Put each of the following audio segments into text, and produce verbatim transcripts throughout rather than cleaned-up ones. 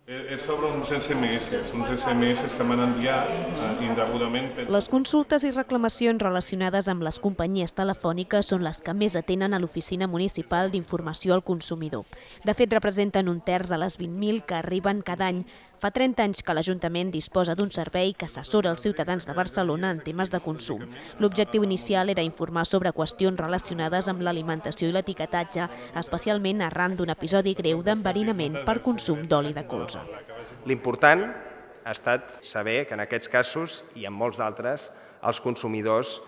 És sobre uns esse eme esse, uns esse eme esse que m'han enviat indegudament. Les consultes i reclamacions relacionades amb les companyies telefòniques són les que més atenen a l'Oficina Municipal d'Informació al Consumidor. De fet, representen un terç de les vint mil que arriben cada any. Fa trenta anys que l'Ajuntament disposa d'un servei que assessora els ciutadans de Barcelona en temes de consum. L'objectiu inicial era informar sobre qüestions relacionades amb l'alimentació i l'etiquetatge, especialment arran d'un episodi greu d'enverinament per consum d'oli de colza. L'important ha estat saber que en aquests casos i en molts d'altres els consumidors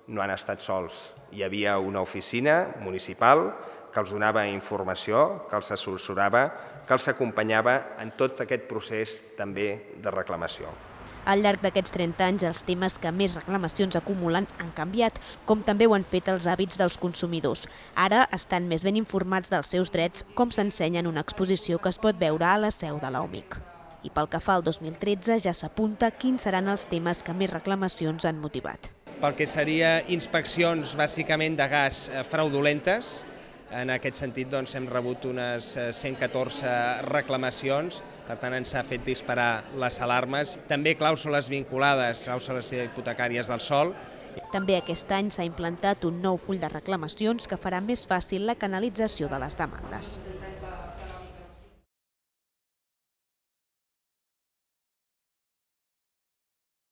no han estat sols. Hi havia una oficina municipal que els donava informació, que els assessorava, que els acompanyava en tot aquest procés també de reclamació. Al llarg d'aquests trenta anys, els temes que més reclamacions acumulen han canviat, com també ho han fet els hàbits dels consumidors. Ara estan més ben informats dels seus drets, com s'ensenya en una exposició que es pot veure a la seu de l'O M I C. I pel que fa al dos mil tretze ja s'apunta quins seran els temes que més reclamacions han motivat. Pel que seria inspeccions bàsicament de gas fraudulentes, en aquest sentit doncs, hem rebut unes cent catorze reclamacions, per tant ens ha fet disparar les alarmes. També clàusules vinculades, clàusules hipotecàries del sòl. També aquest any s'ha implantat un nou full de reclamacions que farà més fàcil la canalització de les demandes.